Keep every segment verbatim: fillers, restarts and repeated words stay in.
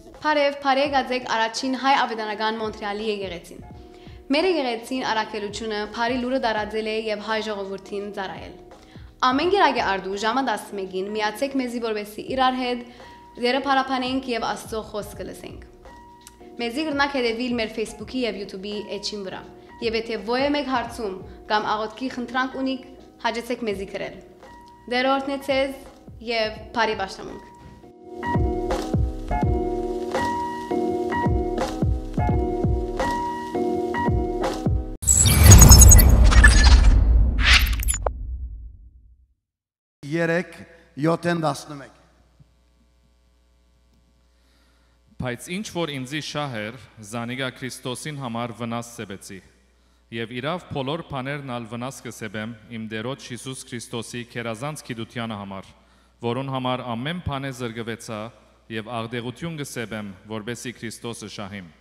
Բարեւ, բարեկացեք առաջին հայ աւետարանական Մոնտրեալի եկեղեցին։ Մեր եկեղեցին առաքելութիւնը բարի լուրը տարածել է եւ հայ ժողովուրդին ծառայել։ Ամէն կերակի արդու ժամը տասնմէկին միացեք մեզի, որպեսզի իրար հետ Տէրը փառաբանենք եւ Աստծո խօսքը լսենք։ Մեզի կրնաք հետեւիլ մեր Facebook-ի եւ YouTube-ի էջին վրայ, եւ եթէ ոեւէ մէկ հարցում կամ աղօթքի խնդրանք ունիք, հաճեցեք մեզի գրել։ Տէրը օրհնեցեզ եւ բարի պաշտամունք։ Երեք, յոթ են տասնմէկ։ Բայց ինչ որ ինծի շահ էր, զանիկա Քրիստոսին համար վնաս սեպեցի։ Եւ իրաւ բոլոր բաներն ալ վնաս կը սեպեմ իմ Տէրոջ Յիսուս Քրիստոսի գերազանց գիտութեանը համար, որուն համար ամէն բանէ զրկուեցայ եւ աղտեղութիւն կը սեպեմ, որպէսզի Քրիստոսը շահիմ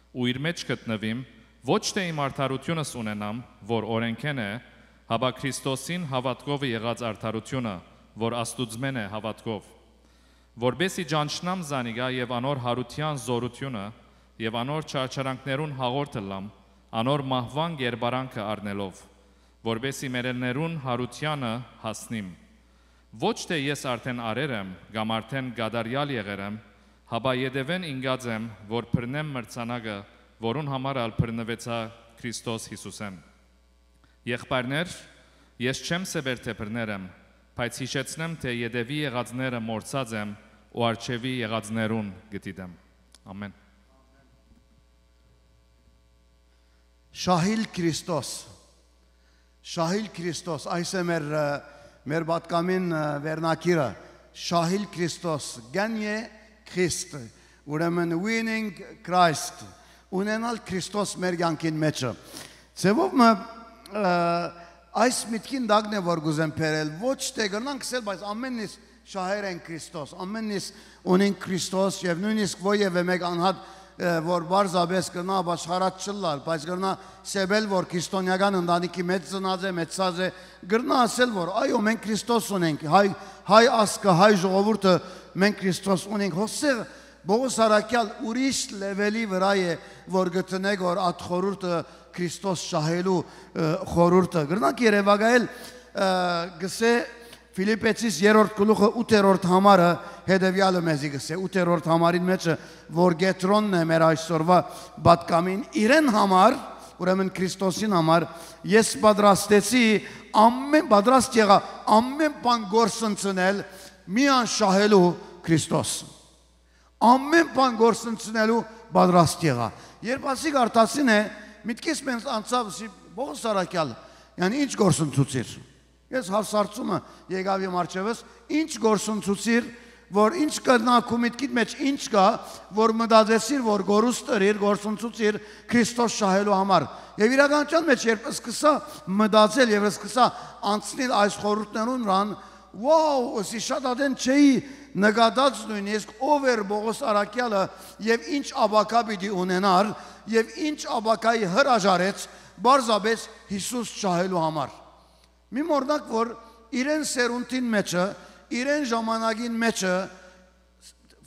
ու իր մէջ գտնուիմ, ոչ թէ իմ արդարութիւնս ունենամ, որ օրէնքէն է, հապա Քրիստոսին հաւատքովը եղած արդարութիւնը, որ Աստուծմէն է հաւատքով, որպէսզի ճանչնամ զանիկա եւ անոր յարութեան զօրութիւնը եւ անոր չարչարանքներուն հաղորդ ըլլամ, անոր մահուան կերպարանքը առնելով, որպէսզի մեռելներուն յարութեանը հասնիմ։ Ոչ թէ ես արդէն արեր եմ կամ արդէն կատարեալ եղեր եմ, հապա ետեւէն ինկած եմ, որ բռնեմ մրցանակը, որուն համար ալ բռնուեցայ Քրիստոս Յիսուսէն։ Եղբայրներ, ես չեմ սեպեր թէ բռներ եմ, բայց յիշեցնեմ թէ ետեւի եղածները մոռցած եմ ու առջեւի եղածներուն կը դիտեմ։ Ամէն։ Շահիլ Քրիստոս։ Շահիլ Քրիստոս, այս է մեր, ը, մեր պատկամին, ը, վերնագիրը։ Շահիլ Քրիստոս, Gagne Christ, ուրեմն Winning Christ, ունենալ Քրիստոս մեր կյանքին մեջը։ Ձևով մը, ը, այս միտքին տակն է, որ կուզեմ բերել, ոչ թէ կրնանք ասել, բայց ամենն իս շահեր են Քրիստոս, ամենն իս ունին Քրիստոս, եւ նոյնիսկ ոեւէ մէկ անհատ, ը, որ պարզապէս կրնայ ապաշխարած չըլլալ, բայց կրնայ սեպել, որ քրիստոնեական ընտանիքի մեջ ծնած է, մեծցած է, կրնայ ասել, որ այո, մենք Քրիստոս ունենք, հայ, հայ ազգը, հայ ժողովուրդը, մենք Քրիստոս ունենք։ Հոսեղ Պողոս առաքեալ ուրիշ լեվելի վրայ է, որ գտնեք, որ այդ խորհուրդը Քրիստոս շահելու, ը, խորհուրդը։ Կրնանք երեւակայել, ը, գսե Ֆիլիպեցիս երրորդ գլուխը ութերորդ համարը հետեւեալը մեզի գսե, ութերորդ համարին մեջը, որ կեդրոնն է մեր այսօրվա պատկամին, իրեն համար, ուրեմն Քրիստոսին համար, ես պատրաստեցի ամեն, պատրաստ եղա ամեն բան գործընծնել, միան շահելու Քրիստոս։ Ամեն բան գործընծնելու պատրաստ եղա։ Երբ ասիկ արտասին է, միտքիս մենս անցաւ, սի Պողոս առաքյալ, յանի ինչ գործընծուցիր։ Ես հարցարցումը եկաւ իմ առջեւս, ինչ գործընծուցիր, որ ինչ կրնա քու միտքիդ մեջ ինչ կա, որ մտածեցիր, որ գորուս տրիր, գործընծուցիր Քրիստոս շահելու համար։ Եվ իրականության մեջ երբ սկսա մտածել եւ սկսա անցնել այս խորհուրդներուն վրան, Wow, ըսի շատ ատեն չէի նկատած նոյնիսկ ով էր Պողոս առաքյալը եւ ինչ ապագա պիտի ունենար եւ ինչ ապագայի հրաժարեց պարզապէս Յիսուս շահելու համար։ Մի մոռնաք, որ իրեն սերունդին մեջը, իրեն ժամանակին մեջը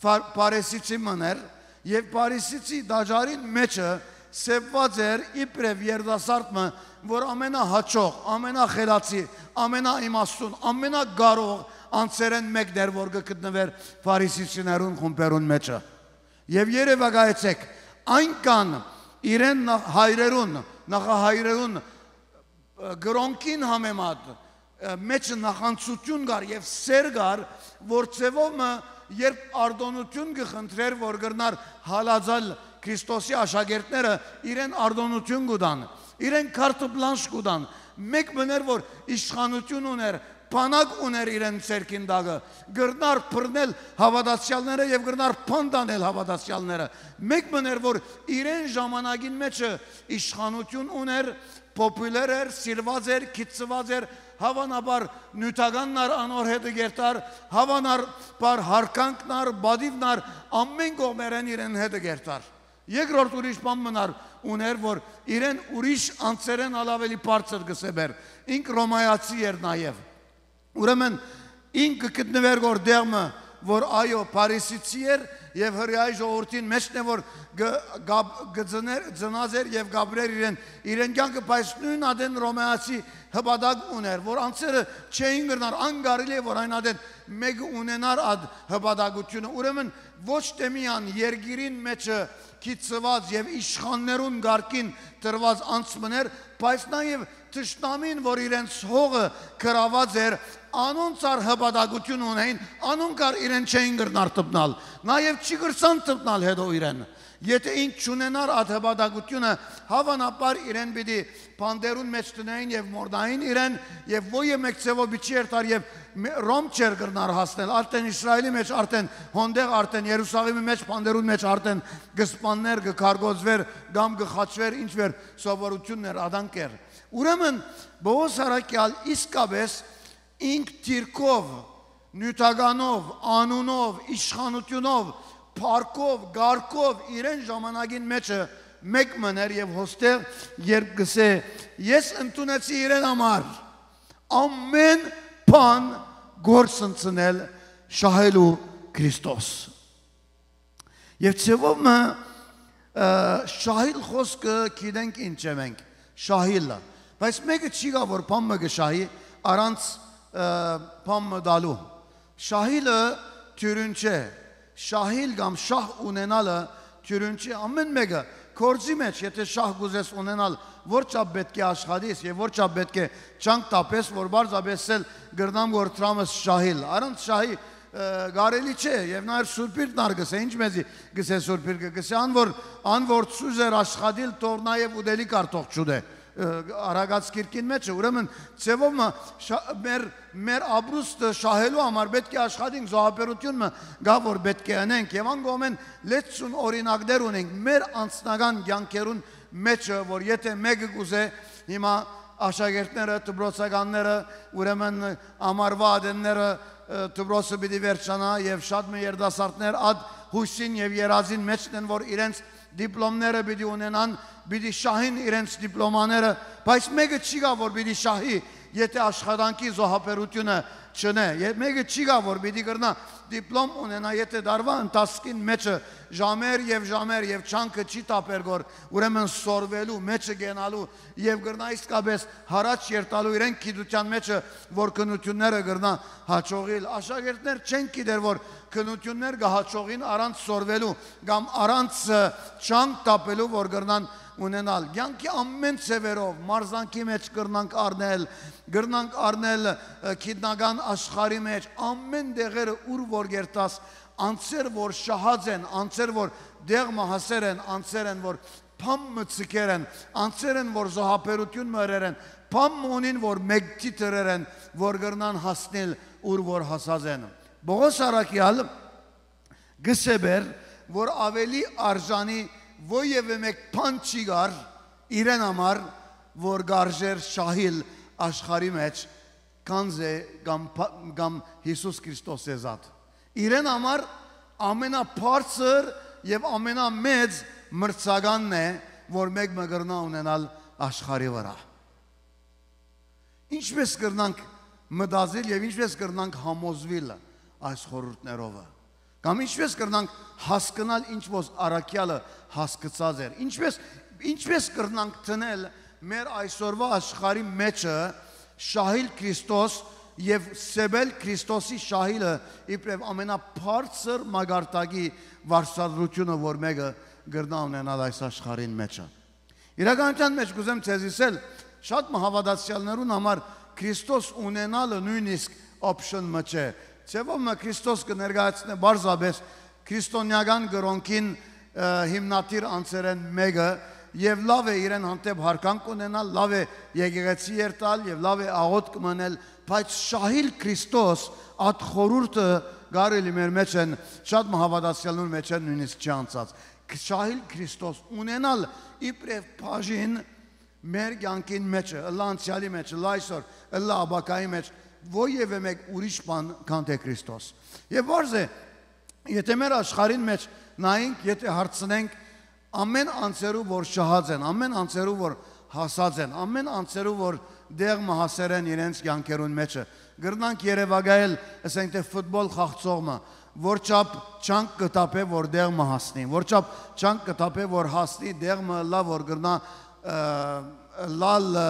Փարիսիցի մըն էր, եւ Փարիսիցի տաճարին մեջը սեպուած էր իբրեւ երիտասարդ մը, որ ամենահաճող, ամենախելացի, ամենաիմաստուն, ամենակարող անձերէն մեկն էր, որ կը գտնուէր Փարիսիցիներուն խումբերուն մեջը։ Եւ երեւակայեցեք, այնքան իրեն հայրերուն, նախահայրերուն կրօնքին համեմատ մեջը նախանձութիւն կար եւ սեր կար, որ ձեւով մը երբ արտօնութիւն կը խնդրէր, որ կրնար հալածալ Քրիստոսի աշակերտները, իրեն արտօնութիւն կու տան, իրեն քարթ պլանշ կու տան, մէկ մըն էր, որ իշխանութիւն ունէր, բանակ ունէր իրեն ձեռքին տակը, կրնար բռնել հաւատացեալները եւ կրնար բանտ անել հաւատացեալները, մէկ մըն էր, որ իրեն ժամանակին մեջը իշխանութիւն ունէր, պոպուլեր էր, սիրուած էր, գիտցուած էր, հաւանաբար նիւթականն ար անոր հետը կերտար, հաւանաբար յարգանքն ար, պատիւն ար, ամէն կողմերէն իրեն հետը կերտար։ Երկրորդ ուրիշ բան մնար ունէր, որ իրեն ուրիշ անձերէն ալ աւելի բարձր կը սեպեր, ինք Ռոմայացի էր նաեւ։ Ուրեմն ինքը գտնուեր գոր դեղ մը, որ այո, փարիսեցի էր եւ հրեայի ժողովուրդին մէջն է, որ գ-, գաբ-, գ-, ծներ-, ծնած էր եւ գաբրեր իրեն, իրեն կյանքը, բայց նոյն ատեն Ռոմայացի հպատակ ուներ, որ անձերը չէին կրնար, անկարելի է, որ այն ատեն մեկը ունենար այդ հպատակությունը։ Ուրեմն ոչ թե միան երկիրին մեջը գիծուած եւ իշխաններուն կարգին տրուած անձ մըն էր, բայց նաեւ թշնամին, որ իրենց հողը գրաւած էր, անոնց ար հպատակություն ունեին, անոնք ար իրեն չէին կրնար տպնալ, նաեւ չի կրցան տպնալ հետո իրեն։ Եթե ինք չունենար այդ հպատակությունը, հաւանաբար իրեն պիտի բանտերուն մէջ դնեին եւ մորդային իրեն, եւ ոյը մէկ ձեւով պիտի չի երթար եւ մէ-, Ռոմ չէր կրնար հասնել, արդեն Իսրայելի մէջ, արդեն հոնդեղ, արդեն Երուսաղեմի մէջ, բանտերուն մէջ արդեն կը սպաններ, կը քարկոզվեր կամ կը խաչվեր, ինչ որ սովորություններ, ադանք էր։ Ուրեմն Պողոս առաքեալ իսկապես ինք դիրքով, նիւթականով, անունով, իշխանութիւնով, փառքով, կարգով իրեն ժամանակին մեջը մէկ մըն էր եւ հոստեղ երբ կսէ. «Ես ընդունեցի իրեն համար ամէն բան կորսնցնել, շահելու Քրիստոս»։ Եւ ձեւով մը, ը, շահիլ խոսքը գիտենք ինչ է մենք, շահիլը։ Բայց մէկը չի գա, որ բան մը կը շահի առանց, ը, բան մը տալու։ Շահիլը թիւրին չէ, շահիլ կամ շահ ունենալը թիւրին չէ։ Ամէն մէկը գործի մէջ, եթե շահ կուզես ունենալ, որ չափ պէտք է աշխատիս եւ որ չափ պէտք է չանք տապես, որ պարզապէս էլ կրնամ որ դրամս շահիլ։ Առանց շահի, ը, կարելի չէ, եւ նաեւ Սուրբիրն ար գսե, ինչ մեզի գսե Սուրբիրը, գսե ան որ, ան որ ծուզ էր աշխատիլ, թող նաեւ ուտելիք ար թող չուտէ, ը, Արագած գիրքին մէջ է, ուրեմն ձեւով մը շա-, մեր, մեր ապրուստը շահելու համար պէտք է աշխատենք, զոհաբերություն մը գա որ պէտք է ընենք, եւ ան կողմէն լեցուն օրինակներ ունենք մեր անձնական կյանքերուն մեջը, որ եթե մէկը կուզէ հիմա աշակերտները, դպրոցականները, ուրեմն ամառվա ատենները, ը, դպրոցը պիտի վերջանայ եւ շատ մը երիտասարդներ այդ յուսին եւ երազին մէջն են, որ իրենց դիպլոմները պիտի ունենան, պիտի շահին իրենց դիպլոմաները, բայց մէկը չի գա որ պիտի շահի, եթե աշխատանքի զոհաբերությունը չնէ, ե-, մէկը չի գա որ պիտի կրնայ դիպլոմ ունենայ, եթե դարվա ընթացքին մեջը ժամեր եւ ժամեր եւ չանքը չի տապեր գոր, ուրեմն սորվելու, մեջը կենալու եւ կրնայ իսկապես յառաջ երթալու իրեն գիտութեան մեջը, որ քննութիւնները կրնայ յաջողիլ։ Աշակերտներ չեն գիտեր որ քննութիւններ կը յաջողին առանց սորվելու կամ առանց, ը, չանք տապելու, որ կրնան ունենալ։ Կյանքի ամէն ձեւերով, մարզանքի մէջ կրնանք առնել, կրնանք առնել, ը, գիտնական աշխարհի մէջ, ամէն տեղերը, ուր որ կերտաս, անձեր որ շահած են, անձեր որ դեղ մը հասեր են, անձեր են որ բան մը ձգեր են, անձեր են որ զոհաբերություն մը ըրեր են, բան մը ունին որ մեկդի դրեր են, որ կրնան հասնել ուր որ հասած են։ Պողոս առաքեալ գսե բեր, որ ավելի արժանի ոյեւէ մէկ բան չի գար իրեն համար, որ կարժեր շահիլ աշխարհի մէջ, քանզէ կամ փա-, կամ Յիսուս Քրիստոսի զատ։ Իրեն համար ամենաբարձր եւ ամենամեծ մրցականն է, որ մէկ մը կրնայ ունենալ աշխարհի վրայ։ Ինչպէս կրնանք մտածիլ եւ ինչպէս կրնանք համոզուիլ այս խորհուրդներովը, կամ ինչպէս կրնանք հասկնալ ինչ որ առաքեալը հասկցած էր, ինչպէս, ինչպէս կրնանք դնել մեր այսօրվա աշխարհի մեջը շահիլ Քրիստոս եւ սեւել Քրիստոսի շահիլը իբրեւ ամենաբարձր մակարդակի վարսադրությունը, որ մէկը կրնայ ունենալ այս աշխարհին մեջը։ Իրականութեան մէջ կուզեմ ձեզ ըսել, շատ մը հաւատացեալներուն համար Քրիստոս ունենալը նոյնիսկ option մը չէ։ Ձեւով մը Քրիստոս կը ներկայացնէ պարզապէս քրիստոնեական կրօնքին, ը, հիմնադիր անձերէն մէկը, եւ լաւ է իրեն հանդէպ յարգանք ունենալ, լաւ է եկեղեցի երթալ եւ լաւ է աղօթք մնել, բայց շահիլ Քրիստոս, այդ խորհուրդը կարելի մեր մեջ են, շատ մը հաւատացեալներուն մեջ են նոյնիսկ չի անցած։ Շահիլ Քրիստոս ունենալ իբրեւ բաժին մեր կյանքին մեջը, ըլլայ անցեալի մեջ, ըլլայ այսօր, ըլլայ ապագայի մեջ, ոյեւէ մէկ ուրիշ բան քան թե Քրիստոս։ Եւ պարզ է, եթե մեր աշխարհին մեջ նայենք, եթե հարցնենք, ամէն անձերու որ շահած են, ամէն անձերու որ հասած են, ամէն անձերու որ դեղ մը հասեր են իրենց կյանքերուն մեջը, կրնանք երեւակայել, ասենք թե ֆուտբոլ խաղցող մը, Որ չափ չանք կը թափէ, որ տեղ մը հասնի, որ չափ չանք կը թափէ, որ հասնի տեղ մը, ըլլայ որ կրնայ, ը, ըլլալ, ը,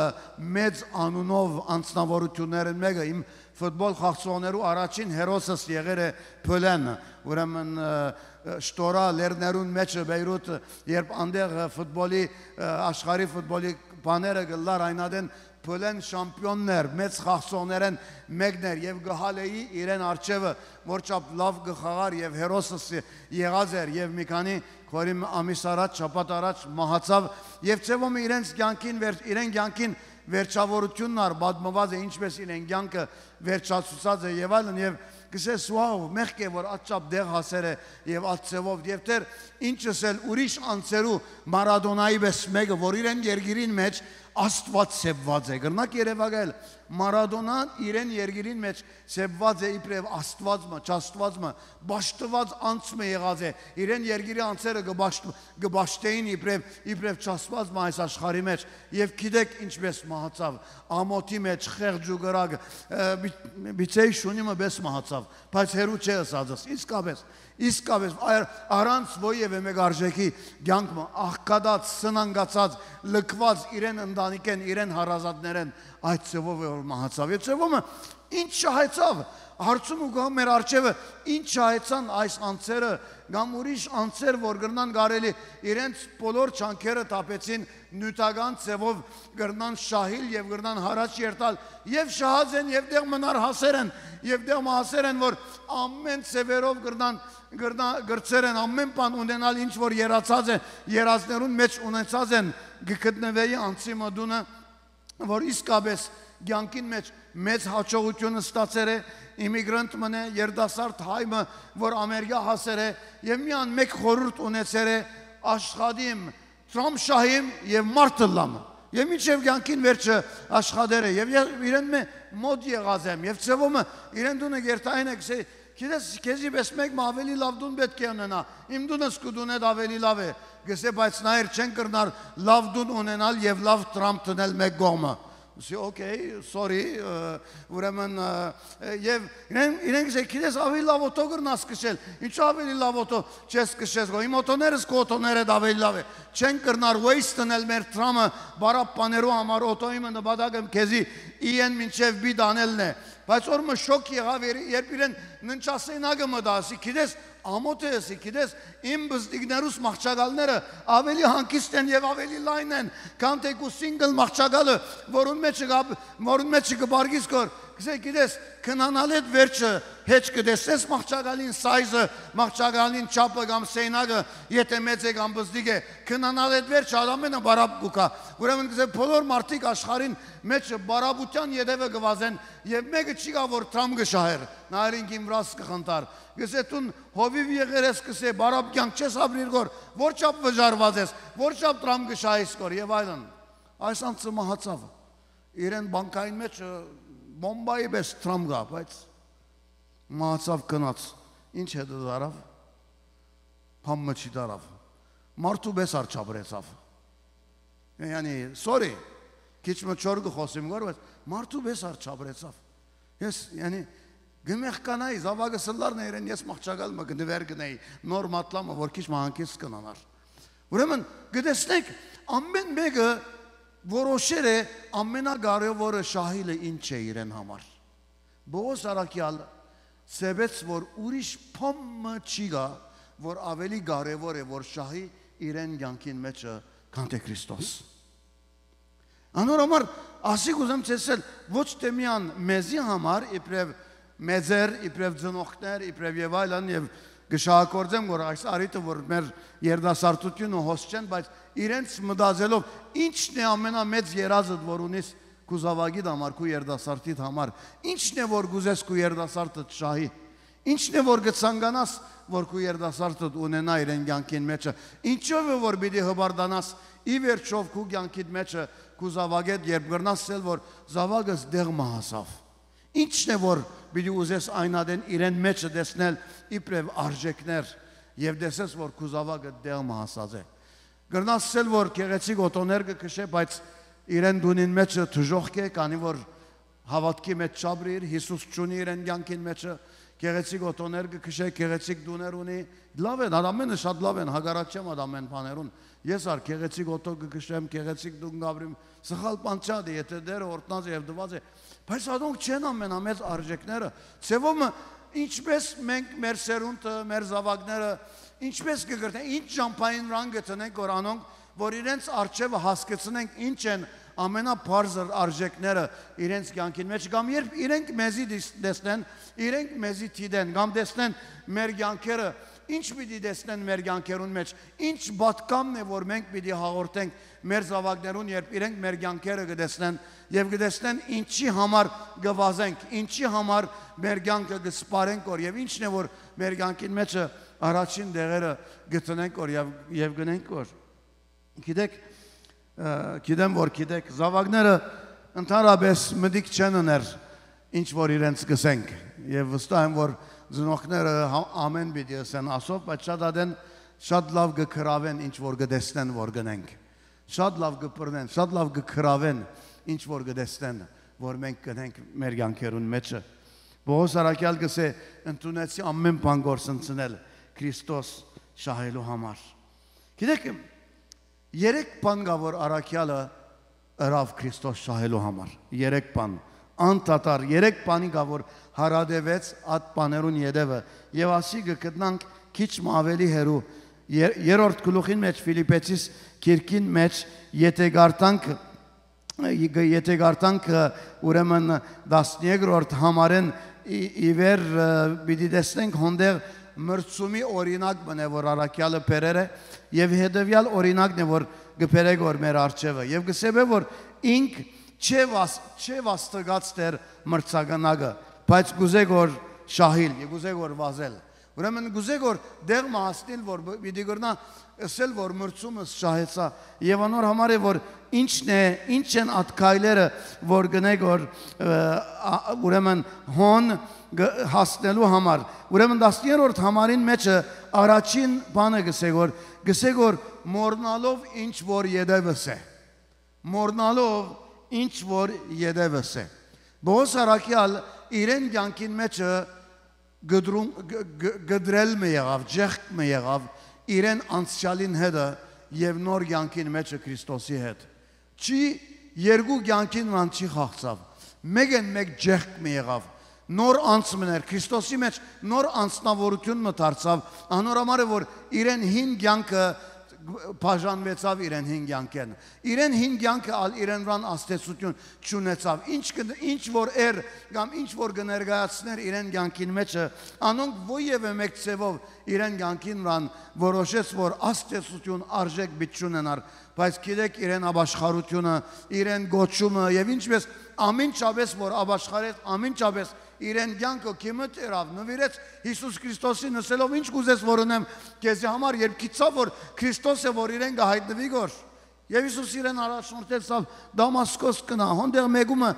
մեծ անունով անձնաւորութիւններէն մէկը, իմ ֆուտբոլ խաղցողներու առաջին հերոսս եղեր է Փոլեն, ուրեմն, ը, ը, Շտորայ լեռներուն մէջը Բեյրութ, երբ անդեղ, ը, ֆուտբոլի, ը, աշխարհի ֆուտբոլի բաները կ'ըլլար, այն ատեն Փոլեն շամպիոնն էր, մեծ խաղցողներէն մէկն էր եւ կը հալէի իրեն առջեւը, որ չափ լաւ կը խաղար եւ հերոսս եղած էր եւ մի քանի, խորհիմ, ամիս առաջ, շաբաթ առաջ մահացաւ եւ ձեւով մը իրենց կեանքին վեր-, իրեն կեանքին վերջաւորութիւնն ար պատմուած է, ինչպէս իրեն կեանքը վերջացուցած է եւ այլն, եւ կ'ըսես, «Wow, մեղք է, որ ատչափ տեղ հասեր է եւ ատ ձեւով», եւ դեռ ինչս էլ ուրիշ անձերու, Մարադոնայի պէս մէկը, որ իրեն երկիրին մէջ Աստուած սեպուած է։ Կրնաք երեւակայել, Մարադոնան իրեն երկիրին մէջ սեպուած է իբրեւ Աստուած մը, չաստուած մը, պաշտուած անձ մը եղած է։ Իրեն երկիրի անձերը կը պաշտ-, կը պաշտէին իբրեւ, իբրեւ չաստուած մը այս աշխարհի մէջ։ Եւ գիտեք ինչպէս մահացաւ, ամօթի մէջ, խեղճ ու կրակ, ը, մի-, միցեի շունի մը պէս մահացաւ, բայց հեռու չէ ըսածս, իսկապէս, իսկապէս, այ-, առանց որեւէ մէկ արժեքի կեանք մը, աղքատած, սնանկացած, լքուած իրեն ընտանիքէն, իրեն հարազատներէն, այդ ձեւով է որ մահացաւ։ Այդ ձեւով մը ինչ շահեցաւ, հարցում ու գա մեր առջեւը, ինչ շահեցան այս անձերը կամ ուրիշ անձեր, որ կրնան կարելի իրենց բոլոր չանքերը թափեցին նիւթական ձեւով, կրնան շահիլ եւ կրնան յառաջ երթալ, եւ շահած են, եւ տեղ մնար հասեր են, եւ տեղ մը հասեր են, որ ամէն ձեւերով կրնան, կրնա-, կրցեր են ամէն բան ունենալ, ինչ որ երացած է, երազներուն մէջ ունեցած են, կը գտնուէի անցի մը տունը, որ իսկապէս կեանքին մէջ մեծ յաջողութիւն ստացեր է, իմիգրանտ մը, երիտասարդ հայ մը, որ Ամերիկա հասեր է եւ միան մէկ խորհուրդ ունեցեր է. «Աշխատիմ, Թրամփ շահիմ եւ մարդ ըլլամ»։ Եւ մինչեւ կեանքին վերջը աշխատեր է եւ ե-, իրեն մը մօտ եղած եմ եւ ձեւով մը իրեն տունը գերտային է, գսե, «Գիտես, քեզի պէս մէկ մը աւելի լաւ տուն պէտք է ունենայ, իմ տունս քու տունէդ աւելի լաւ է», գսե, բայց նայեր, չեն կրնար լաւ տուն ունենալ եւ լաւ Թրամփ դնել մէկ կողմը։ Ասի, «Okay, sorry», ը, ուրեմն, ը, ը, եւ իրեն, իրենք գսե, «Գիտես, աւելի լաւ օթո կրնաս քշել»։ «Ինչու աւելի լաւ օթո չես քշես, գո, իմ օթոներս քու օթոներդ աւելի լաւ է»։ Չեն կրնար waste դնել մեր Թրամփը բարապ բաներու համար, օթոյի մը նպատակը քեզի իեն մինչեւ պի տանելն է։ Բայց որ մը շոկ եղաւ, եր-, երբ իրեն ննջասենակը մտա, ասի, «Գիտես, ամոթ է», ասի, «գիտես, իմ բզդիկներուս մահճակալները աւելի հանգիստ են եւ աւելի լայն են, քան թէ քու single մահճակալը, որուն մեջ կա, որուն մեջ կը բարգիս քոր»։ Գսե, «Գիտես, քնանալեդ վերջը հեչ կը տեսնես մահճակալին size-ը, մահճակալին չափը կամ սենակը, եթէ մեծ է կամ բզդիկ է, քնանալեդ վերջը ամենը բարապ կու գայ»։ Ուրեմն գսե, բոլոր մարդիկ աշխարհին մեջ բարապութեան ետեւը կը վազեն եւ մէկը չի գա որ Թրամփ կը շահեր, նայեր ինքին վրաս կը խնդար։ Գսե, «Դուն հովիւ եղեր ես», գսե, «բարապ կեանք չես ապրիր, գոր, որ չափ վճարված ես, որ չափ Թրամփ կը շահես», գոր, եւ այլն։ Այս անձը մահացաւ։ Իրեն բանկային մեջ, ը, բոմբայի պէս Թրամփ գա, բայց մահացաւ, գնաց։ Ինչ հետը դարավ։ Բան մը չի դարավ։ Մարդու պէս ար չապրեցաւ։ Յանի, sorry, քիչ մը չոր կը խոսեմ, գոր, բայց մարդու պէս ար չապրեցաւ։ Ես, յանի, կը մեղկանայի, զաւակս ըլլար ներ են, ես մահճակալ մը կը նվեր գնեի, նոր մատլամը, որ քիչ մը հանգիստ կնանար։ Ուրեմն, կը տեսնեք, ամեն մէկը որոշեր է, ամենակարեւորը շահիլը ինչ է իրեն համար։ Պողոս առաքեալ սեպեց, որ ուրիշ բան մը չի գա, որ աւելի կարեւոր է, որ շահի իրեն կեանքին մեջը, քան թէ Քրիստոս։ Անոր համար ասի կ'ուզեմ ցեցել ոչ թէ միան մեզի համար, իբրեւ մեծեր, իբրեւ ծնողքներ, իբրեւ եւ այլն, եւ կը շահագործեմ, որ այս առիթը, որ մեր երիտասարդությունը հոս չեն, բայց իրենց մտածելով, ինչն է ամենամեծ երազդ, որ ունիս քու զաւակիդ համար, քու երիտասարդիդ համար, ինչն է, որ կ'ուզես քու երիտասարդը շահի, ինչն է, որ կը ցանկանաս, որ քու երիտասարդդ ունենայ իրեն կեանքին մեջը, ինչով է, որ պիտի հպարտանաս ի վերջով քու կեանքիդ մեջը, քու զաւակեդ, երբ կրնաս ասել, որ զաւակս դեղ մը հասաւ։ Ինչն է, որ պիտի ուզես այն ատեն իրեն մեջը տեսնել իբրեւ արժեքներ եւ տեսես, որ քու զաւակը դեղ մը հասած է։ Կրնաս ասել, որ գեղեցիկ օթոներ կը քշէ, բայց իրեն տունին մեջը դժոխք է, քանի որ հաւատքի մեջ չապրիր, Յիսուս չունի իրեն կեանքին մեջը, Գեղեցիկ օթոներ կը քշէ, գեղեցիկ տուներ ունի, լաւ են, ան ամենը շատ լաւ են, հակառակ չեմ ան ամեն բաներուն։ Ես ալ գեղեցիկ օթո կը քշեմ, գեղեցիկ տուն կ'ապրիմ, սխալ բան չէ, դե, եթէ Տէրը օրհնած է եւ տուած է, բայց ադոնք չեն ամենամեծ արժեքները։ Ձեւով մը, ինչպէս մենք, մեր սերունդը, մեր զաւակները, ինչպէս կը կրթեն, ինչ ճամբային ռան կը դնենք, որ անոնք, որ իրենց առջեւը հասկցնենք, ինչ են ամենաբարձր արժեքները իրենց կեանքին մէջ, կամ երբ իրենք մեզի դիս-, տեսնեն, իրենք մեզի դիտեն, կամ տեսնեն մեր կեանքերը, ինչ պիտի տեսնեն մեր կեանքերուն մէջ, ինչ պատգամն է, որ մենք պիտի հաղորդենք մեր զաւակներուն, երբ իրենք մեր կեանքերը կը տեսնեն եւ կը տեսնեն ինչի համար կը վազենք, ինչի համար մեր կեանքը կը սպառենք, որ, եւ ինչն է, որ մեր կեանքին մէջը առաջին տեղերը կը տնենք, որ, եւ, եւ գնենք, որ։ Գիտեք, ը, գիտեմ, որ գիտեք, զաւակները ընդհանրապես մտիկ չեն ըներ, ինչ որ իրենց կսենք, եւ վստահ եմ, որ ծնողները հա-, ամեն պիտի ըսեն ասով, բայց շատ ատեն շատ լաւ կը գրաւեն, ինչ որ կը տեսնեն, որ գնենք, շատ լաւ կը բռնեն, շատ լաւ կը գրաւեն, ինչ որ կը տեսնեն, որ մենք գնենք մեր կեանքերուն մէջը։ Պողոս առաքեալ կսէ. «Ընդունեցի ամեն բան կորսնցնել Քրիստոս շահելու համար»։ Գիտեք, երեք բան կա, որ առաքեալը ըրաւ Քրիստոս շահելու համար։ Երեք բան, անդադար երեք բանի կա, որ հարատեւեց այդ բաներուն ետեւը, եւ ասի կը գտնանք քիչ մը աւելի հեռու։ Եր-, երրորդ գլուխին մէջ, Ֆիլիպեցիս գիրքին մէջ, եթէ կարդանք, եթէ կարդանք, ուրեմն, տասներկրորդ համարէն ի, ի վեր, ը, պիտի տեսնենք հոնդեղ մրցումի օրինակ մնե, որ առաքեալը բերեր է, եւ հետեւեալ օրինակն է, որ կը բերեք որ մեր առջեւը, եւ կսեպե, որ ինք չէ վաս-, չէ վաստկած դեր մրցակնակը, բայց կուզե որ շահիլ, եւ կուզե որ վազել։ Ուրեմն կուզե որ դեղ մը հասնիլ, որ բ-, պիտի կրնայ ըսել, որ մրցումը շահեցայ, եւ անոր համար է, որ ինչն է, ինչ են այդ քայլերը, որ գնեք որ, ը, ա, ուրեմն հոն գ-, հասնելու համար։ Ուրեմն տասներորդ համարին մէջը առաջին բանը գսե որ, գսե որ մոռնալով ինչ որ ետևս է, մոռնալով ինչ որ ետևս է։ Պողոս առաքեալ իրեն կեանքին մէջը գդրում, գ-, գ-, գդրել մը եղաւ, ջեղք մը եղաւ իրեն անցեալին հետը եւ նոր կեանքին մէջը Քրիստոսի հետ։ Չի, երկու կեանքին ման չի խաղցաւ, մեկն մէկ ջեղք մը եղաւ, նոր անձ մը էր Քրիստոսի մէջ, նոր անձնաւորութիւն մը դարձաւ, անոր համար է որ իրեն հին կեանքը բաժանուեցաւ իրեն հին կեանքէն։ Իրեն հին կեանքը ալ իրեն վրան ազդեցութիւն չունեցաւ։ Ինչ կը, ինչ որ էր կամ ինչ որ կը ներկայացներ իրեն կեանքին մէջը, անոնք ոեւէ մէկ ձեւով իրեն կեանքին վրան որոշեց, որ ազդեցութիւն, արժէք պիտի չունենար, բայց գիտեք, իրեն ապաշխարութիւնը, իրեն կոչումը եւ ինչպես ամինչապէս որ ապաշխարեց, ամինչապէս իրեն կեանքը քիմը տերաւ, նվիրեց Յիսուս Քրիստոսին, ըսելով. «Ինչ կուզես որ ընեմ քեզի համար», երբ գիտցաւ որ Քրիստոս է, որ իրեն կը հայտնուի գոր։ Եւ Յիսուս իրեն առաջնորդեցաւ. «Դամասկոս կնա, հոնդեղ մեկումը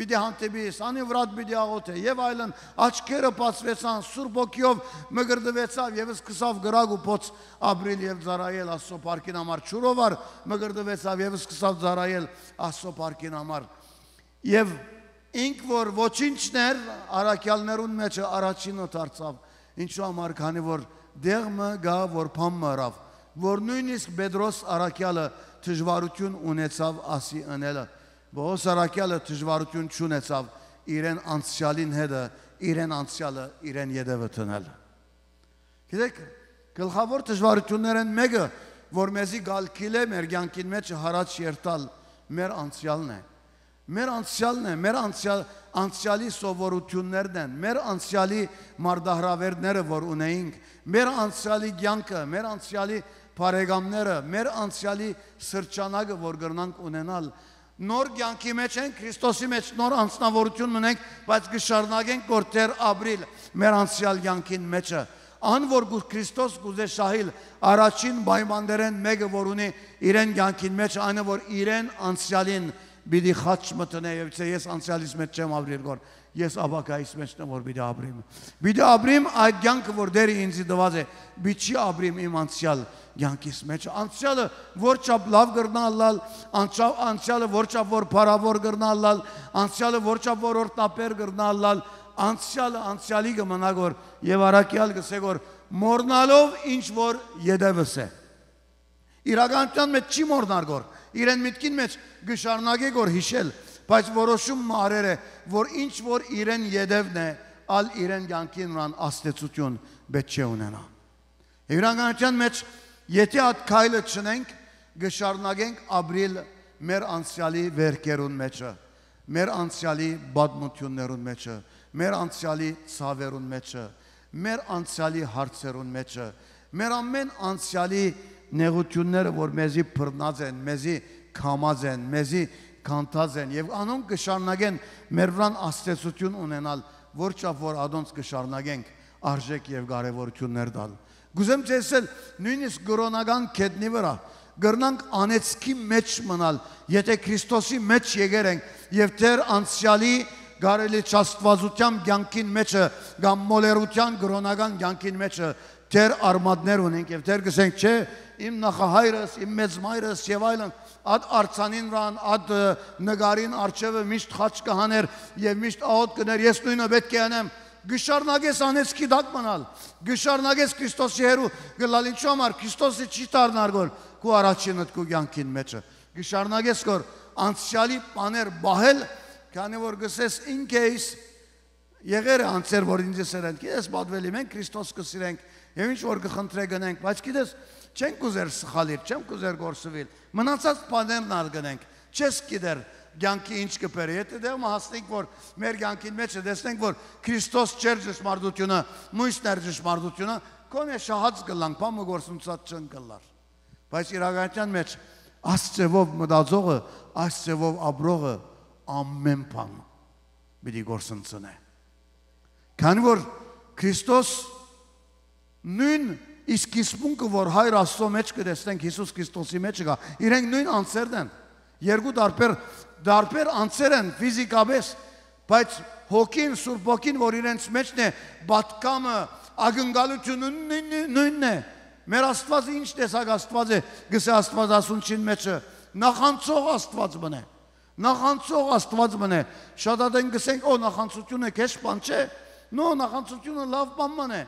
պիտի հանդիպիս, անին վրատ պիտի աղոթե», եւ այլն, աչքերը բացուեցան, Սուրբ Հոգիով մկրտուեցաւ եւ սկսաւ կրակ ու փոց ապրիլ եւ ծառայել Աստծո փառքին համար, ջուրով ալ մկրտուեցաւ եւ սկսաւ ծառայել Աստծո փառքին համար։ Եւ ինք որ ոչինչն էր, առաքեալներուն մէջը առաջինը դարձաւ, ինչու համար, քանի որ դեղ մը գա որ բան մը ըրաւ, որ նոյնիսկ Պետրոս առաքեալը դժուարութիւն ունեցաւ ասի ընելը, Պողոս առաքեալը դժուարութիւն չունեցաւ իրեն անցեալին հետը, իրեն անցեալը իրեն ետևը դնել։ Գիտեք, գլխաւոր դժուարութիւններէն մէկը, որ մեզի կ'ալքիլէ մեր կեանքին մէջ յառաջ երթալ, մեր անցեալն է։ Մեր անցեալն է, մեր անցեալ-, անցեալի սովորութիւններն են, մեր անցեալի մարտահրաւերները որ ունեինք, մեր անցեալի կեանքը, մեր անցեալի բարեկամները, մեր անցեալի սրճանակը որ կրնանք ունենալ։ Նոր կեանքի մէջ ենք, Քրիստոսի մէջ նոր անձնաւորութիւն մնենք, բայց կը շարունակենք գործեր ապրիլ մեր անցեալ կեանքին մէջը։ Ան որ կու-, Քրիստոս կուզէ շահիլ, առաջին պայմաններէն մէկը որ ունի իրեն կեանքին մէջ, այն է որ իրեն անցեալին պիտի խաչ մտնէ եւ չէ, ես անցեալիս մէջ չեմ ապրիր գոր, ես ապագայիս մէջն եմ որ պիտի ապրիմ։ Պիտի ապրիմ այդ կեանքը որ Տէրը ինձի տուած է, պիտի չի ապրիմ իմ անցեալ կեանքիս մէջ։ Անցեալը որ չափ լաւ կրնա ըլլալ, անցյալ-, անցեալը որ չափ որ փառաւոր կրնա ըլլալ, անցեալը որ չափ որ օրհնաբեր կրնա ըլլալ, Անցեալը անցեալի կը մնայ գոր, եւ առաքեալ կ'ըսէ գոր, մոռնալով ինչ որ յետեւս է։ Իրականութեան մէջ չի մոռնար գոր, իրեն միտքին մէջ կը շարունակէ գոր յիշել, բայց որոշում մը առեր է, որ ինչ որ իրեն յետեւն է, ալ իրեն կեանքին վրան ազդեցութիւն պէտք չէ ունենայ։ Իրականութեան մէջ, եթէ այդ քայլը չընենք, կը շարունակենք ապրիլ մեր անցեալի վերքերուն մէջը, մեր անցեալի պատմութիւններուն մէջը, մեր անցեալի ցաւերուն մէջը, մեր անցեալի հարցերուն մէջը, մեր ամէն անցեալի նեղութիւնները, որ մեզի բռնած են, մեզի քամած են, մեզի քանթած են, եւ անոնք կը շարունակեն մեր վրան ազդեցութիւն ունենալ, որ չափ որ ադոնց կը շարունակենք արժէք եւ կարեւորութիւններ տալ։ Կ'ուզեմ ձեզ ըսել, նոյնիսկ կրօնական գետնի վրայ կրնանք անեծքի մէջ մնալ, եթէ Քրիստոսի մէջ եկեր ենք եւ դեռ անցեալի կարելի չաստուածութեան կեանքին մէջը կամ մոլերութեան կրօնական կեանքին մէջը դեռ արմատներ ունենք եւ դեռ կ'ըսենք, չէ, իմ նախահայրս, իմ մեծ մայրս եւ այլն, այդ արձանին վրան, այդ, ը, նկարին առջեւը միշտ խաչ կը հաներ եւ միշտ աղօթք կ'ընէր, ես նոյնը պէտք է անեմ, կը շարունակես անեծքի տակ մնալ, կը շարունակես Քրիստոսի հեռու գլալ, ինչու համար Քրիստոսը չի դառնար գոր քու առաջինդ քու կեանքին մէջը, կը շարունակես գոր անցեալի բաներ պահել, քանի որ կ'ըսես, in case եղեր է անցեր, որ ինձ ըսեր են, գիտես, պատուելի, մենք Քրիստոս կը սիրենք եւ ինչ որ կը խնդրե գնենք, բայց գիտես, չենք ուզեր սխալիր, չեմ կուզեր գործուիլ, մնացած բաներն ալ գնենք, չես գիտեր կեանքի ինչ կը բերէ, եթե դեղ մը հասնենք, որ մեր կեանքին մէջը տեսնենք, որ Քրիստոս չէր ճշմարտությունը, մոյսն էր ճշմարտությունը, քոնէ շահած կ'ըլլանք, բան մը գործունցած չընկլար, բայց իրականության մէջ այս ձևով մտածողը, այս ձևով ապրողը ամեն բան պիտի գործընծնէ։ Քանի որ Քրիստոս նոյն իսկ սկիզբունքը, որ Հայր Աստծո մէջ կը տեսնենք, Յիսուս Քրիստոսի մէջ կայ, իրենք նոյն անձերն են, երկու տարբեր, տարբեր անձեր են ֆիզիկապես, բայց հոգին, Սուրբ Հոգին, որ իրենց մէջն է, պատկամը, ակնկալությունը նոյն-, նոյնն է։ Մեր Աստուածը ինչ տեսակ Աստուած է, գսե Աստուածասունչին մէջը, նախանցող Աստուած մնե։ Նախանցող Աստուած մնե։ Շատ ատեն գսենք, «Օ, նախանցությունը քեշ բան չէ»։ No, նախանցությունը լաւ բան մնե։